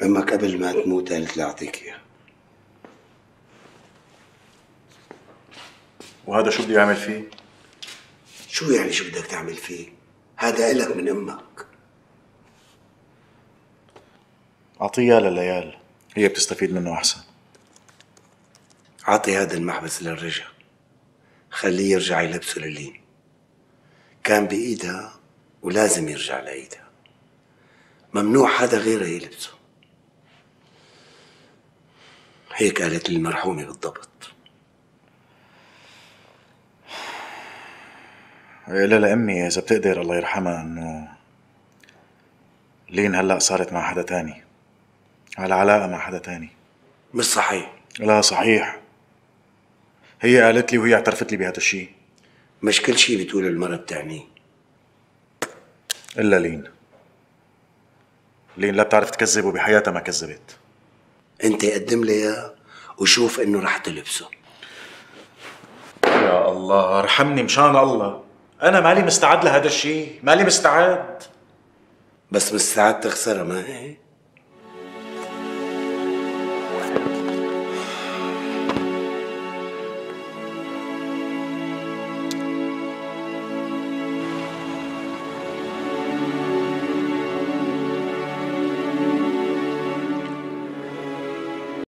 امك قبل ما تموت قالت لي اعطيك اياه. وهذا شو بدي اعمل فيه؟ شو يعني شو بدك تعمل فيه؟ هذا إلك من امك. اعطيه لليال، هي بتستفيد منه احسن. عطي هذا المحبس للرجا، خليه يرجع يلبسه للين. كان بإيدها ولازم يرجع لإيدها، ممنوع حدا غيرها يلبسه. هيك قالت لي المرحومة بالضبط. قولها لأمي إذا بتقدر الله يرحمها إنه لين هلأ صارت مع حدا تاني، على علاقة مع حدا تاني. مش صحيح. لا صحيح، هي قالت لي وهي اعترفت لي بهذا الشيء. مش كل شيء بتقول المرأة بتعنيه. إلا لين. لين لا بتعرف تكذب وبحياتها ما كذبت. انت قدم لي اياه وشوف انه رح تلبسه. يا الله ارحمني مشان الله، أنا مالي مستعد لهذا الشيء، مالي مستعد. بس مستعد تخسرها ما هيك؟